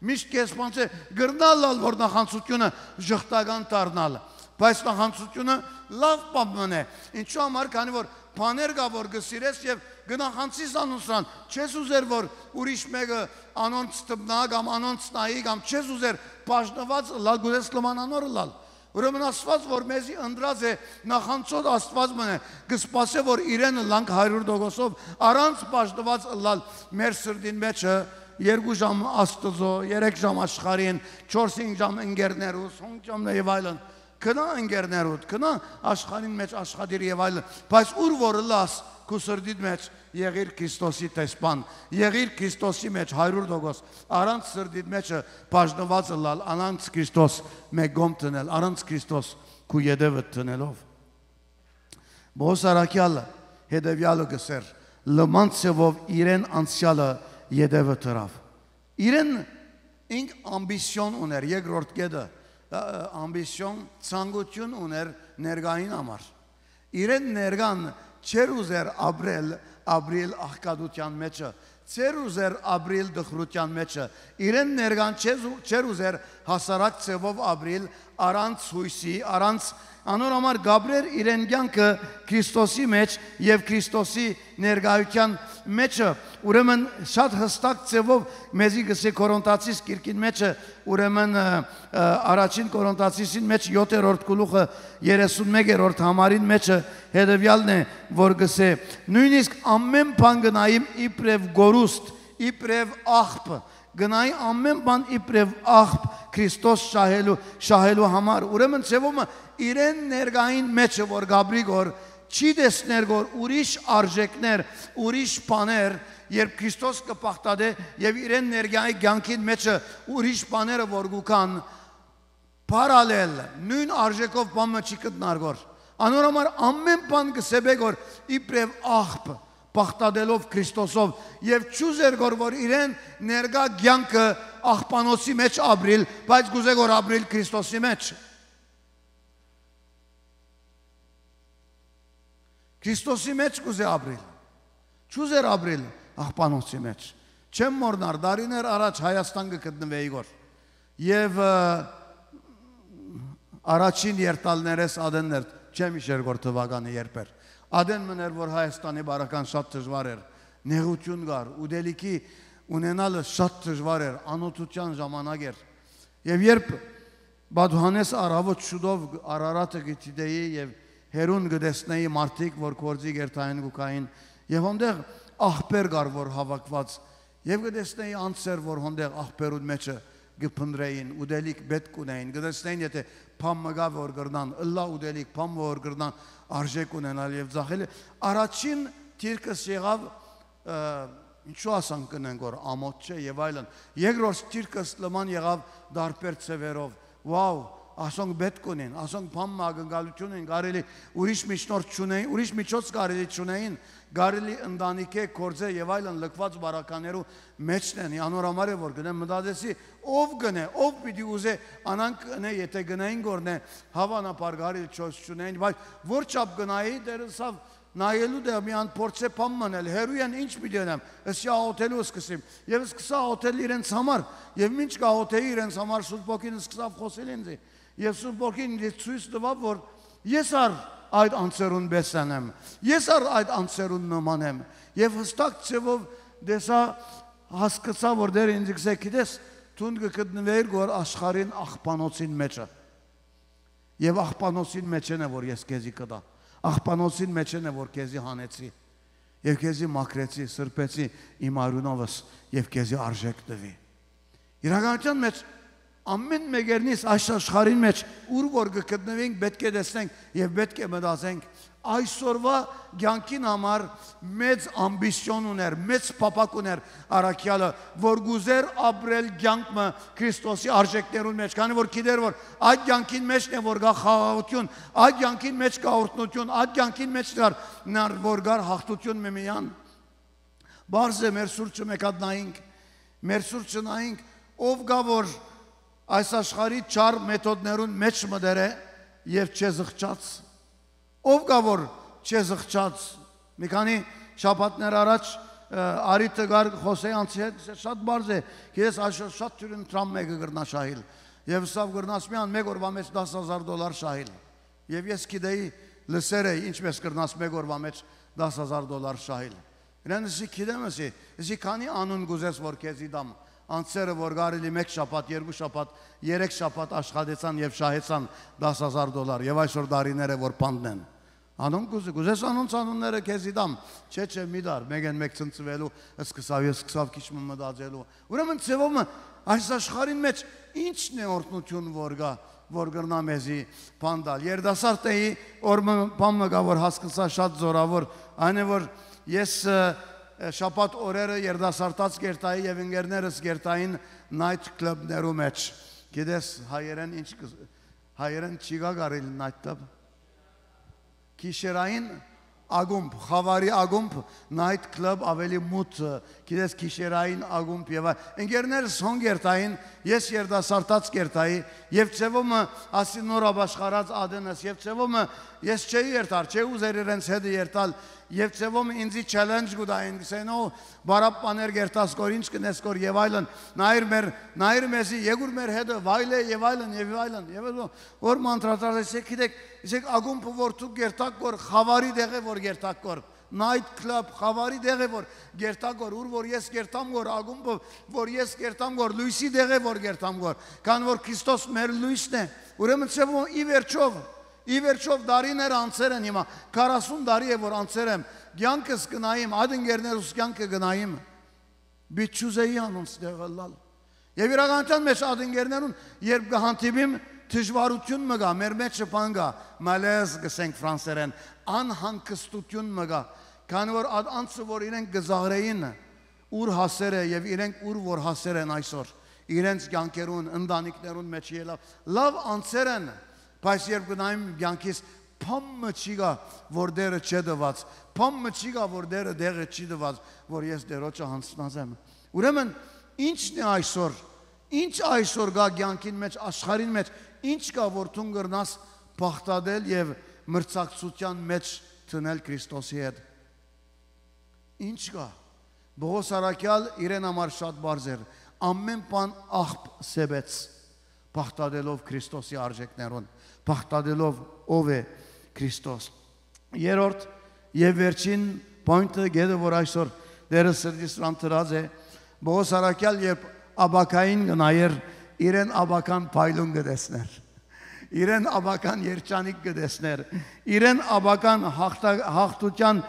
Միշտ քեշ բան չէ, կրնալ ալ, որ նախանցությունը ժխտական դառնալ, բայց նախանցությունը լաւ բան մնե։ Ինչու համար, քանի որ բաներ կա, որ կը սիրես եւ կը նախանցիս անոնցրան, չես ուզեր, որ ուրիշ մէկը անոնց դպնայ կամ անոնց նայի կամ չես ուզեր բաժնուած ըլլալ, կ'ուզես լմանանոր ըլլալ։ Ուրեմն Աստուած, որ մեզի ընտրած է, նախանցող Աստուած մնե, կը սպասէ, որ իրեն ըլլանք հարիւր տոկոսով, առանց բաժնուած ըլլալ մեր սրտին մէջը, երկու ժամ Աստուծոյ, երեք ժամ աշխարհին, չորս-հինգ ժամ ընկերներուս, հինգ ժամ եւ այլն։ Գնա ընկերներուդ, գնա աշխարհին մէջ աշխատիր եւ այլն, բայց ուր որ ըլլաս, քու սրտիդ մէջ եղիր Քրիստոսի տեսփան, եղիր Քրիստոսի մէջ հարիւր տոկոս, առանց սրտիդ մէջը բաժնուած ըլլալ, առանց Քրիստոս մէկ կողմ դնել, առանց Քրիստոս քու ետեւը դնելով։ Պողոս առաքեալը հետեւեալը կ'ըսէր, լման ձեւով իրեն անցեալը ետեւը դրաւ։ Իրեն ինք ամբիսիոն ուներ, երկրորդ կետը, ը, ը, ամբիսիոն, ցանկութիւն ուներ ներկային համար։ Իրեն ներկան չէր ուզեր ապրել, ապրիլ աղքատութեան մէջը, չէր ուզեր ապրիլ տխրութեան մէջը, իրեն ներկան չեզ-, չէր ուզեր հասարակ ձևով ապրիլ, առանց յոյսի, առանց, անոր համար կապրեր իրեն կեանքը Քրիստոսի մէջ եւ Քրիստոսի ներկայութեան մէջը։ Ուրեմն շատ յստակ ձևով մեզի գսե Կորինթացիս գիրքին մէջը, ուրեմն, ը, ը, առաջին Կորինթացիսին մէջ յոթերորդ գլուխը երեսունմեկերորդ համարին մէջը հետեւեալն է, որ գսե. «Նոյնիսկ ամեն բան կը նայիմ իբրեւ կորուստ, իբրեւ աղբ, կը նայի ամեն բան իբրեւ աղբ Քրիստոս շահելու, շահելու համար»։ Ուրեմն ձևումը իրեն ներկային մէջը որ կապրի գոր, չի տեսներ գոր ուրիշ արժեքներ, ուրիշ բաներ, երբ Քրիստոս կը պաղտատէ եւ իրեն ներկայի կեանքին մէջը ուրիշ բաները որ կու կան, պարալել, նոյն արժեքով բան մը չի գտնար գոր։ Անոր համար ամեն բան կը սեպէ գոր իբրեւ աղբ, պաղտատելով Քրիստոսով, եւ չուզեր գոր որ իրեն ներկայ կեանքը աղբանոցի մէջ ապրիլ, բայց կուզէ գոր ապրիլ Քրիստոսի մէջ։ Քրիստոսի մէջ կուզէ ապրիլ։ Չուզեր ապրիլ աղբանոցի մէջ։ Չեմ մոռնար, տարիներ առաջ Հայաստան կը գտնուէի գոր։ Եւ, ը, առաջին երթալներս ատեն էր, չեմ իշեր գոր թուականը երբ էր։ Ատեն մըն էր, որ Հայաստանի բարական շատ դժուար էր, նեղութիւն կար, ուտելիքի ունենալը շատ դժուար էր, անօթութեան ժամանակ էր։ Եւ երբ Բադուհանես առաւոտ շուտով Արարատը կը դիտէի եւ հեռուն կը տեսնէի մարդիկ, որ գործի կերտային կու գային, եւ հոնդեղ աղբեր կար, որ հաւաքուած, եւ կը տեսնէի անձեր, որ հոնդեղ աղբերուն մէջը կը փնտռէին, ուտելիք պէտք ունէին, կը տեսնէին, եթէ բան մը կայ, որ կրնան, ըլլայ ուտելիք, բան մը որ կրնան արժէք ունենալ եւ ձախել։ Առաջին դիրքս եղաւ, ը, ինչու ասանք կ'ընենք որ ամոթ չէ եւ այլն։ Երկրորդ դիրքս լման եղաւ դարբեր ձեւերով։ Վաու, ասոնք պէտք ունին, ասոնք բան մը ակնկալութիւն են, կարելի ուրիշ միջնորդ չունեին, ուրիշ միջոց կարելի չունեին, կարելի ընտանիքէ, գործէ եւ այլն լքուած բարականերու մէջն են, անոր համար է որ գնեմ մտածեցի, ով գնէ, ով պիտի ուզէ անանք ընէ, եթէ գնային գորնէ, հաւանաբար կարելի չոս չունեին, բայց որ չափ գնայի, դեր ըսաւ, նայելու դեր մի ան փորձէ բան մնել, հեռու են ինչ պիտի ընեմ, ըսի աղոթելու սկսիմ, եւ սկսա աղոթել իրենց համար, եւ մինչ կաղոթեի իրենց համար, Սուրբ Ոգին սկսաւ խօսել ինձի, եւ Սուրբ Ոգին ինձ ցոյց տուաւ, որ ես ար այդ անձերուն պէս եմ, ես ար այդ անձերուն նման եմ, եւ հստակ ձեւով տեսա, հասկացայ, որ դեր ինձ գսե, գիտես, դուն կը գտնուէիր գոր աշխարհին աղբանոցին մէջը, եւ աղբանոցին մէջէն է, որ ես քեզի կտայ, աղբանոցին մէջէն է, որ քեզի հանեցի, եւ քեզի մաքրեցի, սրբեցի իմ արիւնովս, եւ քեզի արժէք տուի։ Իրականութեան մէջ ամէն մեկերնից այս աշխարհին մէջ, ուր որ կը գտնուենք, պէտք է տեսնենք եւ պէտք է մտածենք, այսօրվա կեանքին համար մեծ ամբիցիոն ուներ, մեծ փափաք ուներ առաքեալը, որ կ'ուզեր ապրել կեանք մը Քրիստոսի արժեքներուն մէջ, քանի որ գիտեր, որ այդ կեանքին մէջն է, որ կայ խաղաղութիւն, այդ կեանքին մէջ կայ օրհնութիւն, այդ կեանքին մէջ կար, նար, որ կար հաղթութիւն միմիան։ Պարզ է, մեր սուրճը մեկ հատ նայինք, մեր սուրճը նայինք, ով կայ, որ այս աշխարհի չար մեթոդներուն մէջ մտեր է եւ չեզղջաց։ Ով կայ, որ չեզղջաց։ Մի քանի շաբաթներ առաջ, ը, Արի Տգար Խոսեանցի հետ, շատ պարզ է, գիտես, այսօր շատ թիւրին Թրամփ մէկը կրնա շահիլ։ Եւ սա կրնաս միան մեկ օրվա մեջ դաս հազար դոլար շահիլ։ Եւ ես գիտեի, լսեր էի, ինչպես կրնաս մեկ օրվա մեջ դաս հազար դոլար շահիլ։ Իրեն ըսի, գիտեմ, ըսի, ըսի, քանի անուն կ'ուզես, որ քեզի տամ, անձերը, որ կարելի մեկ շաբաթ, երկու շաբաթ, երեք շաբաթ աշխատեցան եւ շահեցան դաս հազար դոլար, եւ այսօր տարիներ է, որ բանտն են։ Անոնք կ'ուզի-, կ'ուզես անոնց անունները քեզի տամ, չէ, չէ, մի դար, մեկեն մեկ ցնցուելու, սկսաւ, ես սկսաւ քիչ մը մտածելու։ Ուրեմն ձեւով մը այս աշխարհին մեջ ի՞նչն է օրհնութիւն որ կայ, որ կրնայ մեզի բան տալ։ Երիտասարդ էի, օր մը բան մը կայ, որ հասկացայ շատ զօրաւոր, այն է, որ ես, ը, ը, շաբաթ օրերը երիտասարդաց կերտայի եւ ընկերներս կերտային night club-ներու մեջ։ Գիտես, հայերեն ինչ կը-, հայերեն չի գա կարելի night club։ Գիշերային ակումբ, խաւարի ակումբ, night club ավելի մութ, ը, գիտես, գիշերային ակումբ եւ այ-, ընկերներս հոն կերտային, ես երիտասարդաց կերտայի, եւ ձեւով մը ասի նոր ապաշխարած ատենս, եւ ձեւով մը ես չէի երթար, չէի ուզեր իրենց հետը երթալ, եւ ձեւով մը ինձի challenge կու տային, գսեն, «Օ, բարապ բաներ կերտաս կոր, ինչ կնես կոր» եւ այլն, նայր մեր, նայր մեզի, եկուր մեր հետը, վայլէ եւ այլն, եւ այլն, եւ այլն, որ մանտրատար ես, գիտեք, Իսկ ակումբը որ դուք կերտաք կոր, խաւարի տեղ է որ կերտաք կոր, night club խաւարի տեղ է որ կերտաք կոր, ուր որ ես կերտամ կոր, ակումբը որ ես կերտամ կոր, լոյսի տեղ է որ կերտամ կոր, քան որ Քրիստոս մեր լոյսն է։ Ուրեմն, ձեւով, ի վերջով, ի վերջով տարիներ անցեր են հիմա, քառասուն տարի է որ անցեր եմ, կեանքս կնայիմ, այդ ընկերներուս կեանքը կնայիմ։ Պիտի չուզեի անոնց տեղ ըլլալ։ Եւ իրականության մեջ այդ ընկերներուն, երբ կը հանդիպիմ, դժուարութիւն մը կայ, մեր մէջը բան կայ, malaise կ'ըսենք ֆրանսերեն, անհանգստութիւն մը կայ, քանի որ այդ անձը, որ իրենք կը զաղրէին, ուր հասեր է եւ իրենք ուր որ հասեր են այսօր, իրենց կեանքերուն, ընտանիքներուն մեջ ելաւ, լաւ անձեր են, բայց երբ գնայիմ կեանքիս, բան մը չի գայ, որ Տերը չէ տված, բան մը չի գայ, որ Տերը տեղը չի տված, որ ես Տերոջը յանձնած եմ։ Ուրեմն, ի՞նչն է այսօր, ի՞նչ այսօր գայ կեանքին մեջ, աշխարհին մեջ, ի՞նչ գայ, որ դուն կրնաս բաղդատել եւ մրցակցութեան մեջ դնել Քրիստոսի հետ։ Ի՞նչ կայ։ Պողոս առաքեալ իրեն համար շատ բարձ էր։ Ամեն բան աղբ սեպեց, բաղդատելով Քրիստոսի արժեքներուն, բաղդատելով ով է Քրիստոս։ Երրորդ եւ վերջին պոյնթը, գետը, որ այսօր Տերը սրտիս վրան դրած է, Պողոս առաքեալ երբ ապագային կը նայեր, իրեն ապագան փայլուն կը տեսներ, իրեն ապագան երջանիկ կը տեսներ, իրեն ապագան հաղթա-, հաղթութեան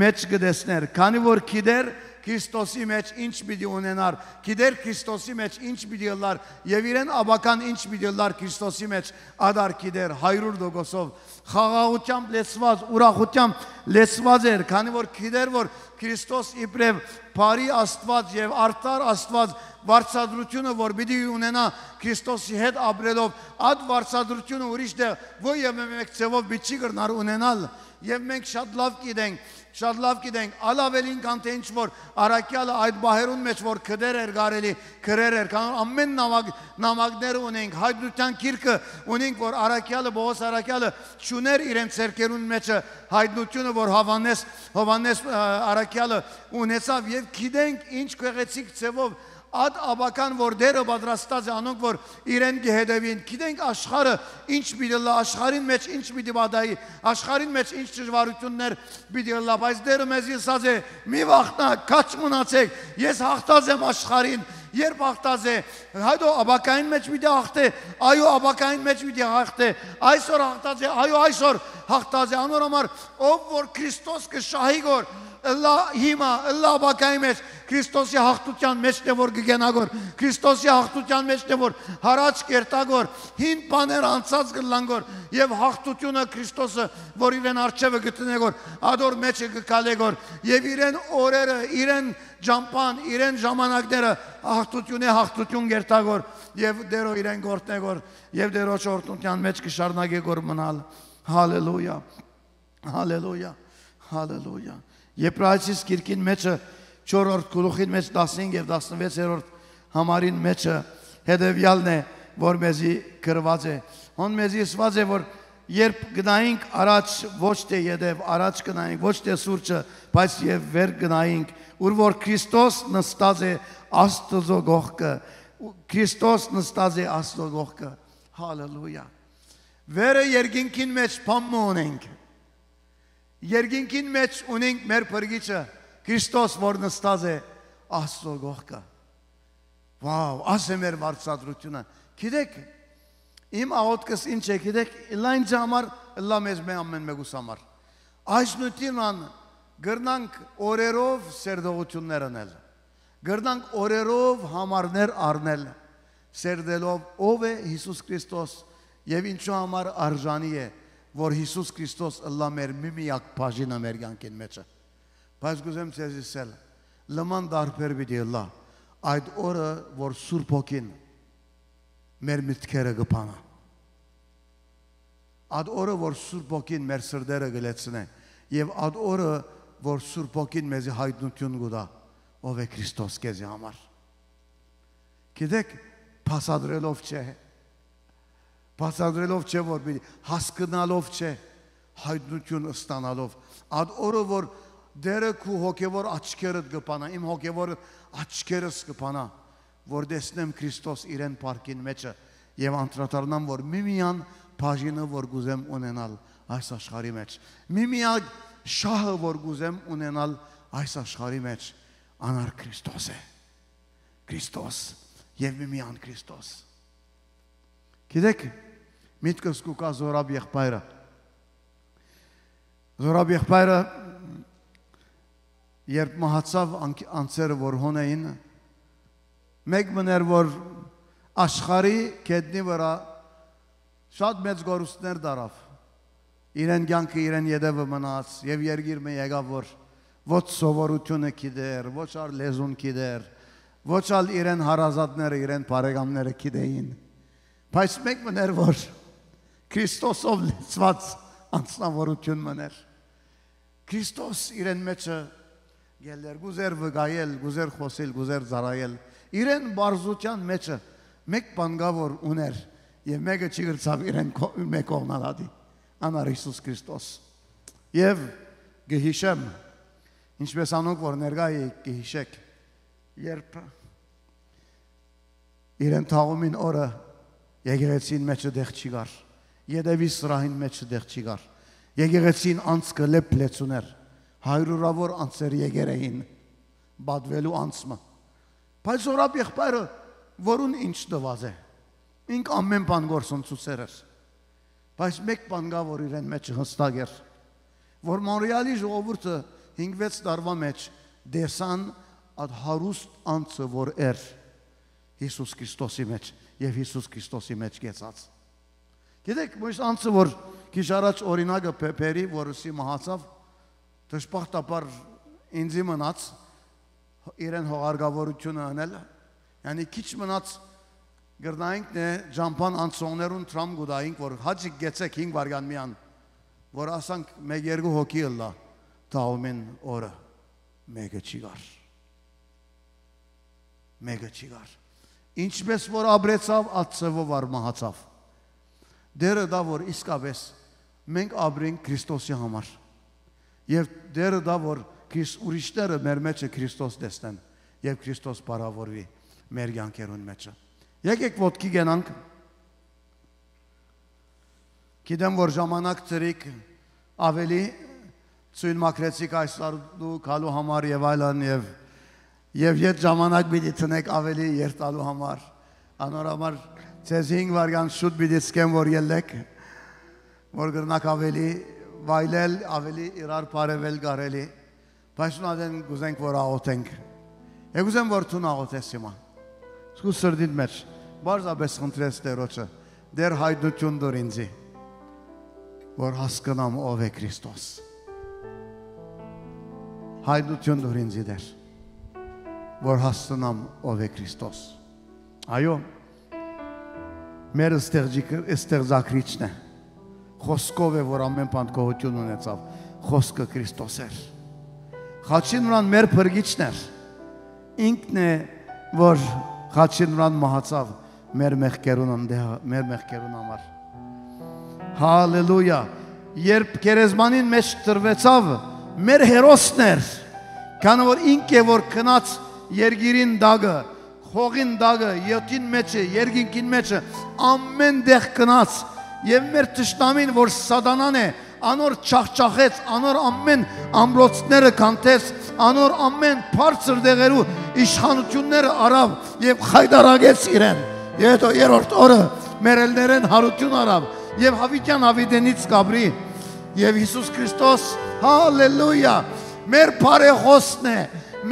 մէջ կը տեսներ, քանի որ գիտեր Քրիստոսի մէջ ինչ պիտի ունենար, գիտեր Քրիստոսի մէջ ինչ պիտի ըլլար եւ իրեն ապագան ինչ պիտի ըլլար Քրիստոսի մէջ, ադար գիտեր, հարիւր տոկոսով, խաղաղութեամբ լեցուած, ուրախութեամբ լեցուած էր, քանի որ գիտեր որ Քրիստոս իբրեւ բարի Աստուած եւ արդար Աստուած, վարձատրութիւնը որ պիտի ունենայ Քրիստոսի հետ ապրելով, այդ վարձատրութիւնը ուրիշ տեղ ոչ եւ մէկ ձեւով պիտի չի կրնար ունենալ։ Եւ մենք շատ լաւ գիտենք, շատ լաւ գիտենք, ալ աւելին քան թէ ինչ որ առաքեալը այդ պահերուն մէջ որ գտեր էր կարելի, գրեր էր, քան ամեն նամակ, նամակները ունենք, հայտնութեան գիրքը ունենք, որ առաքեալը, Պողոս առաքեալը չուներ իրեն ձեռքերուն մէջը հայտնությունը, որ Հովհաննէս, Հովհաննէս, ը, առաքեալը ունեցաւ, եւ գիտենք ինչ գեղեցիկ ձեւով այդ ապագան, որ Տերը պատրաստած է անոնք, որ իրեն կը հետեւին։ Գիտենք աշխարհը ինչ պիտի ըլլայ, աշխարհին մէջ ինչ պիտի պատահի, աշխարհին մէջ ինչ դժվարութիւններ պիտի ըլլայ, բայց Տերը մեզի ըսած է. «Մի վախնաք, քաջ մնացէք, ես հաղթած եմ աշխարհին»։ Երբ հաղթած է, հետո ապագային մէջ պիտի հաղթէ, այո, ապագային մէջ պիտի հաղթէ, այսօր հաղթած է, այո, այսօր հաղթած է, անոր համար, ով որ Քրիստոս կը շահի գոր, ըլլայ հիմա, ըլլայ ապագայի մէջ, Քրիստոսի հաղթութեան մէջն է որ կը կենայ գոր, Քրիստոսի հաղթութեան մէջն է որ յառաջ կ'երթայ գոր, հին բաներ անցած կ'ըլլան գոր, եւ հաղթութիւնը Քրիստոսը որ իրեն առջեւը գտնէ գոր, ադոր մէջը կը քալէ գոր, եւ իրեն օրերը, իրեն ճամբան, իրեն ժամանակները հաղթութիւնէ հաղթութիւն կ'երթայ գոր, եւ Տերո իրեն կ'օրհնէ գոր, եւ Տերոջ օրհնութեան մէջ կը շարունակէ գոր մնալ։ Հալելույա։ Հալելույա, հալելույա։ Եբրայեցիս գիրքին մէջը չորրորդ գլուխին մէջ տասնհինգ եւ տասնվեցերորդ համարին մէջը հետեւեալն է, որ մեզի գրուած է։ Հոն մեզի ըսուած է, որ երբ գնայինք առաջ, ոչ թէ ետեւ, առաջ գնայինք, ոչ թէ սուրճը, բայց եւ վեր գնայինք, ուր որ Քրիստոս նստած է Աստուծոյ կողքը, Քրիստոս նստած է Աստուծոյ կողքը։ Հալելույա։ Վերը երկինքին մէջ բան մը ունենք։ Երկինքին մէջ ունենք մեր Փրկիչը, Քրիստոս, որ նստած է Աստուծոյ կողքը։ Վաւ, աս է մեր վարձատրութիւնը։ Գիտեք, իմ աղօթքս ինչ է, գիտեք, ըլլայ ինձ համար, ըլլայ մեզ մէ ամեն մեկուս համար։ Այս նյութին ան կրնանք օրերով սերտողութիւններ ընել։ Կրնանք օրերով համարներ առնել, սերտելով ով է Յիսուս Քրիստոս եւ ինչու համար արժանի է, որ Յիսուս Քրիստոս ըլլայ մեր մի միակ բաժինը մեր կյանքին մէջը։ Բայց կ'ուզեմ ձեզ ըսել, լման տարբեր պիտի ըլլայ այդ օրը, որ Սուրբ Հոգին մեր մտքերը կը բանայ։ Այդ օրը, որ Սուրբ Հոգին մեր սրտերը կը լեցնէ, եւ այդ օրը, որ Սուրբ Հոգին մեզի հայտնութիւն կու տայ, ով է Քրիստոս քեզի համար։ Գիտեք, բացատրելով չէ, բացատրելով չէ, որ պիտի հասկնալով չէ, հայտնութիւն ստանալով։ Այդ օրը, որ Տերը քու հոգեվոր աչքերդ կը բանայ, իմ հոգեվոր աչքերս կը բանայ, որ տեսնեմ Քրիստոս իրեն փառքին մէջը եւ անդրադառնամ, որ միմիան բաժինը, որ կ'ուզեմ ունենալ այս աշխարհի մէջ, միմիակ շահը, որ կ'ուզեմ ունենալ այս աշխարհի մէջ, անար Քրիստոս է։ Քրիստոս եւ միմիան Քրիստոս։ Գիտեք, միտքս կու գայ Զորաբ եղբայրը։ Զորաբ եղբայրը, երբ մահացաւ, անք-, անձերը որ հոն էին, մէկ մըն էր, որ աշխարհի գետնի վրայ շատ մեծ կորուստներ տարաւ։ Իրեն կյանքը իրեն ետևը մնաց եւ երկիր մը եկաւ, որ ոչ սովորութիւնը գիտեր, ոչ ալ լեզուն գիտեր, ոչ ալ իրեն հարազատները, իրեն բարեկամները գիտեին։ Բայց մէկ մըն էր, որ Քրիստոսով լեցուած անձնավորութիւն մըն էր։ Քրիստոս իրեն մէջը գելեր, կ'ուզեր վկայել, կ'ուզեր խօսիլ, կ'ուզեր ծառայել։ Իրեն պարզութեան մէջը մէկ բան կայ, որ ուներ, եւ մէկը չի կրցաւ իրեն քո-, մէկ կողնալ ատի, անար Յիսուս Քրիստոս։ Եւ կը յիշեմ, Ինչպէս անոնք որ ներկայ էիք կը յիշէք, երբ իրեն թաղումին օրը եկեղեցին մէջը տեղ չի գար, ետեւի սրահին մէջը տեղ չի գար, եկեղեցին անցքը լեփ լեցուն էր, հարիւրաւոր անցեր եկեր էին պատուելու անցը, բայց Զորապ եղբայրը որուն ինչ տուած է, ինք ամէն բան գործընծուցեր էր, բայց մէկ բան կայ որ իրեն մէջը յստակ էր, որ Մոնրեալի ժողովուրդը հինգ վեց տարուա մէջ տեսան այդ հարուստ անցը որ էր Յիսուս Քրիստոսի մէջ եւ Յիսուս Քրիստոսի մէջ կեցած։ Գիտեք, միշտ անցը որ քիչ առաջ օրինակը բե-, բերի, որ ուսի մահացաւ, դժբախտաբար ինձի մնաց իրեն հողարկավորությունը անել, յանի քիչ մնաց կրնայինք նե ճամբան անցողներուն դրամ կու տայինք, որ հաճիկ գեցեք հինգ վարգան միան, որ ասանք մէկ երկու հոգի ըլլայ թաղումին օրը, մէկը չի գար, մէկը չի գար, ինչպէս որ ապրեցաւ, ատ ձեւով ար մահացաւ։ Դերը դա որ իսկապէս մենք ապրենք Քրիստոսի համար, եւ Դերը դա որ Քրիս-, ուրիշները մեր մեջը Քրիստոս տեսնեն, եւ Քրիստոս փառաւորուի մեր կյանքերուն մեջը։ Եկեք ոտքի կենանք։ Գիտեմ որ ժամանակ ծրիկ ավելի, ցոյն մաքրեցիք այս տարու գալու համար եւ այլն, եւ, եւ ետ ժամանակ պիտի տնեք ավելի երթալու համար։ Անոր համար ձեզ հինգ վարգան շուտ պիտի սկեմ որ ելլեք, որ կրնաք ավելի վայլել, ավելի իրար բարեւել կարելի, բայց ուն ատեն կուզենք որ աղոթենք։ Եկ ուզեմ որ դուն աղոթես հիմա, քու սրտիդ մէջ պարզապէս խնդրես Տերոջը, Տեր, հայտնություն տուր ինձի, որ հասկնամ ով է Քրիստոս, հայտնություն տուր ինձի Տեր, որ հասկնամ ով է Քրիստոս։ Այո, մեր ստեղծի-, ստեղծակրիչն է, խոսքով է որ ամէն բան գոյութիւն ունեցաւ, խոսքը Քրիստոս էր, խաչին վրան մեր փրկիչն էր, ինքն է որ խաչին վրան մահացաւ մեր մեղքերուն անդեհ-, մեր մեղքերուն համար։ Հալելույա։ Երբ գերեզմանին մէջ տրուեցաւ, մեր հերոսն էր, քանի որ ինք է որ գնաց երկիրին տակը, հողին տակը, յոթին մեջը, երկինքին մեջը, ամէն տեղ գնաց, եւ մեր թշնամին որ Սատանան է, անոր չախչախեց, անոր ամէն ամրոցները քանթեց, անոր ամէն բարձր տեղերու իշխանությունները առաւ եւ խայտարակեց իրեն։ Եւ հետո երրորդ օրը մեռելներէն յարութիւն առաւ եւ յաւիտեան յաւիտենից կ'ապրի։ Եւ Յիսուս Քրիստոս, հալելույա, մեր բարեխոսն է,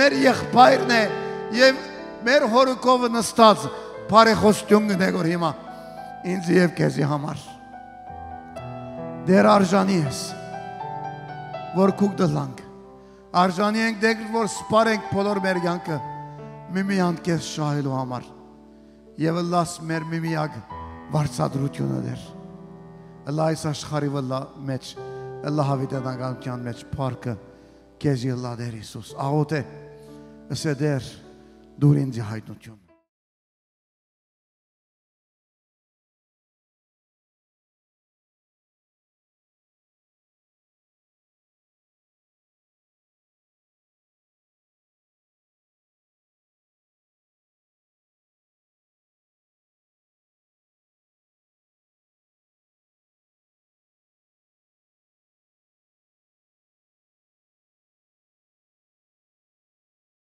մեր եղբայրն է եւ մեր հօրը քովը նստած բարեխոսություն կ'ընէ որ հիմա ինձ եւ քեզի համար։ Դեր արժանի ես, որ քուք դլանք, արժանի ենք դեր որ սպարենք բոլոր մեր կյանքը միմիանդ քեզ շահելու համար եւ ըլլաս մեր միմիակ վարձատրությունը Տեր, ըլլա այս աշխարհի վլա մեջ, ըլլա յաւիտենականության մեջ փառքը քեզի ըլլա Տեր Յիսուս, աղոթ է, ըսե Տեր, դուր ինձի հայտնություն։